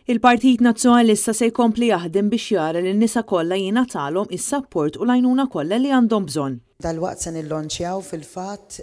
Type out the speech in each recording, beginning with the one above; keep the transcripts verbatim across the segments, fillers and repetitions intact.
Il-Partit Nazzjonalista se jkompli jaħdem biex jara li n-nisa kollha jingħatalhom is-sapport u l-għajnuna kollha li għandhom bżonn. Dalwaqt se nillonċjaw fil-fatt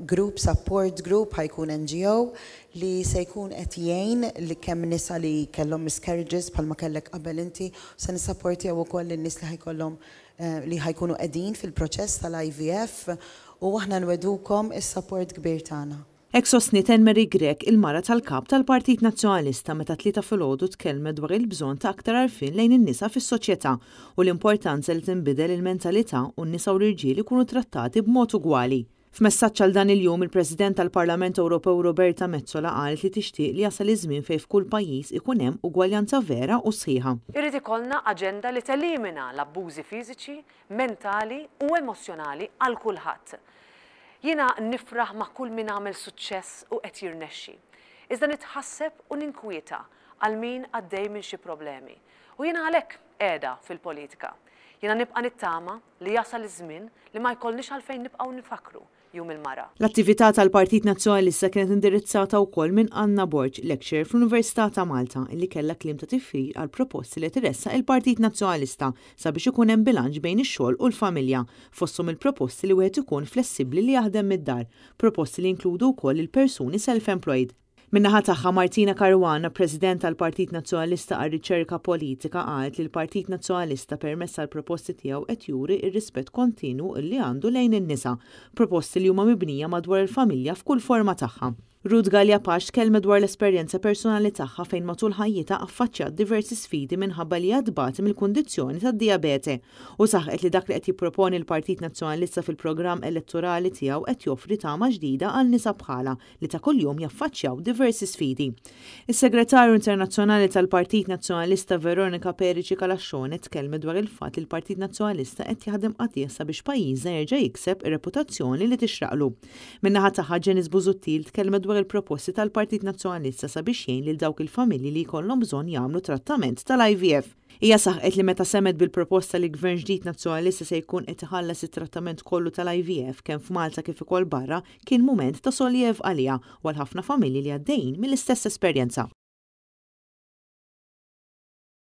group support group, ħa jkun N G O li se jkun qed jgħin li kemm nisa li kellhom miscarriages bħalma kellek qabel inti, se nissapportjaw ukoll lin-nies li ħa jkollhom eh, li ħa jkunu qegħdin fil-proċess tal-I V F u aħna nwegħdukom is-support kbir tagħna. Hekk sostniet Mary Grech, il-mara tal-kap tal-Partit Nazzjonalista, meta t-Tlieta filgħodu tkellmet dwar il-bżonn ta' aktar għarfien lejn in-nisa fis-soċjetà u l-importanza li tinbidel il-mentalità u n-nisa u l-irġiel ikunu trattati b'mod ugwali. F'messaġġ għal dan il-jum, il-President tal-Parlament Ewropew Roberta Metsola qalet li tixtieq li jasal iż-żmien fejn f'kull pajjiż ikun hemm ugwaljanza vera u sħiħa. Irid ikollna aġenda li telimina l-abbużi fiżiċi, mentali u emozjonali għal kulħadd. Jiena nifraħ ma' kull min għamel suċċess u qed jirnexxi. Iżda nitħasseb u ninkwieta għal min għaddej minn xi problemi. U jiena għalhekk qiegħda fil-politika. Jiena nibqa' nittama li jasal iż-żmien li ma jkollniex għalfejn nibqgħu nifakru Jum il-Mara. L-attività tal-Partit Nazzjonalista kienet indirizzata wkoll minn Anna Borg, lecturer fl-Università ta' Malta, illi kellha kliem ta' tifħir għal proposti li tressaq il-Partit Nazzjonalista sabiex ikun hemm bilanċ bejn ix-xogħol u l-familja, fosthom il-proposti li wieħed ikun flessibbli li jaħdem mid-dar, proposti li jinkludu wkoll il-persuni self-employed. Min-naħa tagħha, Martina Caruana, President tal-Partit Nazzjonalista għal Riċerka Politika, qalet li l-Partit Nazzjonalista permezz tal-proposti tiegħu qed juri ir-rispett kontinu li għandu lejn in-nisa, proposti li huma mibnija madwar il-familja f'kull forma tagħha. Ruth Galea Pace tkellmet dwar l-esperjenza personali tagħha fejn matul ħajjitha affaċċjat diversi sfidi minħabba li tbati mill-kundizzjoni tad-dijabete u saħqet li dak li qed jipproponi l-Partit Nazzjonalista fil-programm elettorali tiegħu qed joffri tama ġdida għal nisa bħala li ta' kuljum jaffaċċjaw diversi sfidi. Is-Segretarju Internazzjonali tal-Partit Nazzjonalista Veronica Perici Calascione tkellmet dwar il-fatt li l-Partit Nazzjonalista qed jaħdem qatigħ sabiex pajjiżna jerġa' jikseb ir-reputazzjoni li tixraqlu. Min-naħa tagħha, Janice Busuttil tkellmet dwar il-proposti tal-Partit Nazzjonalista sabiex jgħin lil dawk il-familji li jkollhom bżonn jagħmlu trattament tal-I V F. Hija saħqet li meta semgħet bil-proposta li Gvern ġdid Nazzjonalista se jkun qed iħallas it-trattament kollu tal-I V F kemm f'Malta kif ukoll barra, kien mument ta' soljev għaliha u għal ħafna familji li għaddejjin mill-istess esperjenza.